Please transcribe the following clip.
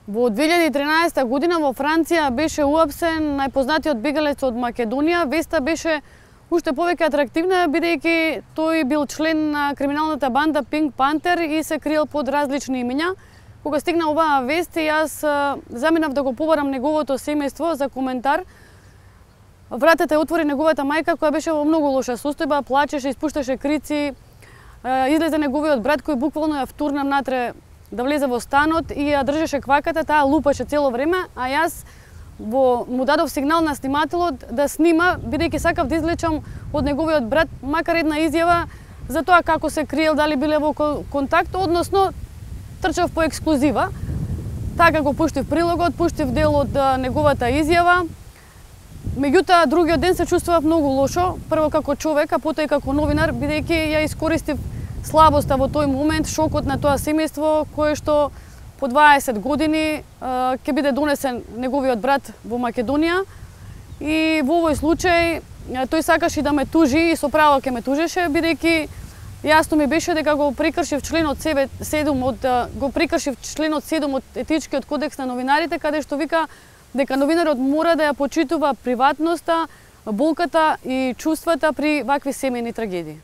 Во 2013 година во Франција беше уапсен најпознатиот бегалец од Македонија. Веста беше уште повеќе атрактивна, бидејќи тој бил член на криминалната банда Pink Panther и се криел под различни имиња. Кога стигна оваа вест, јас заминав да го побарам неговото семејство за коментар. Вратата ја отвори неговата мајка, која беше во многу лоша состојба, плачеше, испушташе крици. Излезе неговиот брат кој буквално ја втурна натре да влезе во станот и ја држеше кваката, таа лупаше цело време, а јас му дадов сигнал на снимателот да снима, бидејќи сакав да извлечам од неговиот брат макар една изјава за тоа како се криел, дали биле во контакт, односно трчав по ексклузива. Така го пуштив прилогот, пуштив дел од неговата изјава. Меѓутоа, другиот ден се чувствував многу лошо, прво како човек, а потоа и како новинар, бидејќи ја искористив слабоста во тој момент, шокот на тоа семејство, кое што по 20 години ќе биде донесен неговиот брат во Македонија. И во овој случај тој сакаше да ме тужи и со право ќе ме тужеше, бидејќи јасно ми беше дека го прекршив членот 7 од етичкиот кодекс на новинарите, каде што вика дека новинарот мора да ја почитува приватноста, болката и чувствата при вакви семејни трагедии.